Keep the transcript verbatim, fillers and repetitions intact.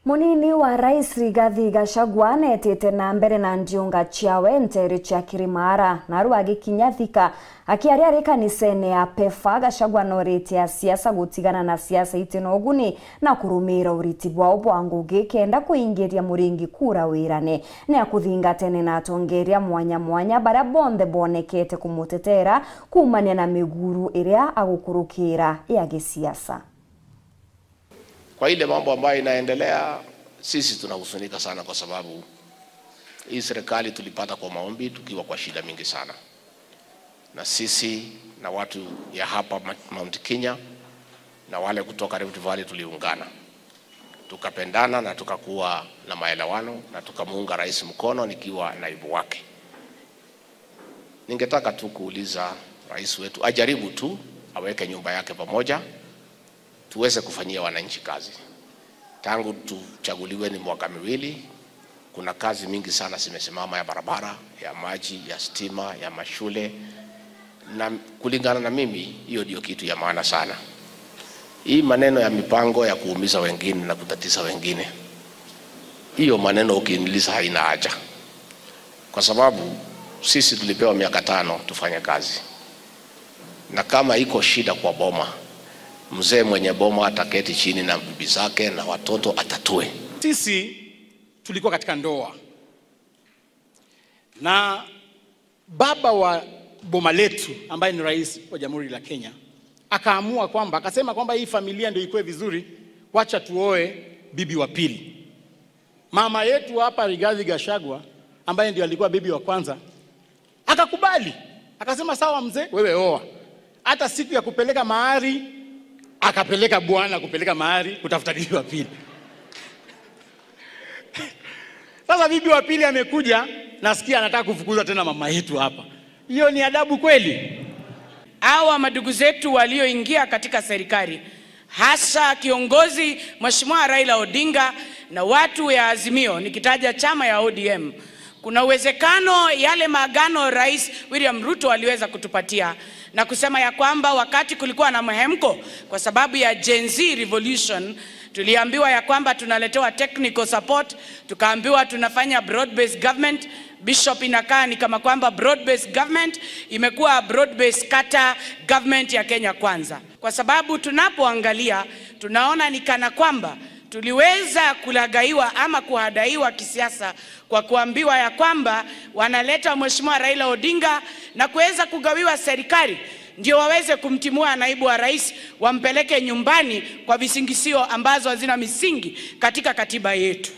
Munini wa Rais Rigathi Gachagua neetite na mbere na ndiunga ciawe nteere cia Kirimara, naru agikinya Thika. Akiaria ari kanisene ya PEFA, Gachagua nooritie asiasa gutigana na siasa iti na uguni na kurumiira uriti bwao bwa ngugi kenda kuingiria Muringi kura wirane. Ni akuthingatene na atongeria mwanya mwanya baria bonthe boonekete kumutetera kuumania na miguru iria agukurukiira ya gisiasa. Kwa ile mambo ambayo inaendelea, sisi tunahuzunika sana, kwa sababu hii serikali tulipata kwa maombi tukiwa kwa shida mingi sana, na sisi na watu ya hapa Ma-, Mount Kenya na wale kutoka Rift Valley tuliungana, tukapendana na tukakuwa na maelewano na tukamuunga rais mkono nikiwa naibu wake. Ningetaka tu kuuliza rais wetu ajaribu tu aweke nyumba yake pamoja, tuweze kufanyia wananchi kazi. Tangu tuchaguliwe ni mwaka miwili, kuna kazi mingi sana zimesimama, ya barabara, ya maji, ya stima, ya mashule. Na kulingana na mimi, hiyo ndio kitu ya maana sana. Hii maneno ya mipango ya kuumiza wengine na kutatiza wengine, hiyo maneno ukiniuliza haina haja, kwa sababu sisi tulipewa miaka tano tufanye kazi, na kama iko shida kwa boma, mzee mwenye boma ataketi chini na bibi zake na watoto atatue. Sisi tulikuwa katika ndoa na baba wa boma letu ambaye ni rais wa Jamhuri la Kenya akaamua kwamba, akasema kwamba hii familia ndio ikuwe vizuri, wacha tuoe bibi wa pili. Mama yetu hapa Rigathi Gachagua ambaye ndio alikuwa bibi wa kwanza akakubali, akasema, "Sawa mzee, wewe oa." Hata siku ya kupeleka mahari akapeleka bwana kupeleka mahari kutafuta bibi wa pili. Sasa bibi wa pili amekuja, nasikia anataka kufukuza tena mama yetu hapa. Hiyo ni adabu kweli? Hawa madugu zetu walioingia katika serikali, hasa kiongozi Mheshimiwa Raila Odinga na watu ya Azimio, nikitaja chama ya O D M, kuna uwezekano yale maagano Rais William Ruto aliweza kutupatia na kusema ya kwamba wakati kulikuwa na mhemko kwa sababu ya Gen Z revolution, tuliambiwa ya kwamba tunaletewa technical support, tukaambiwa tunafanya broad based government. Bishop, inakaa ni kama kwamba broad based government imekuwa broad based kata government ya Kenya Kwanza, kwa sababu tunapoangalia tunaona ni kana kwamba tuliweza kulagaiwa ama kuhadaiwa kisiasa kwa kuambiwa ya kwamba wanaleta Mheshimiwa Raila Odinga na kuweza kugawiwa serikali ndio waweze kumtimua naibu wa rais, wampeleke nyumbani kwa visingisio ambazo hazina misingi katika katiba yetu.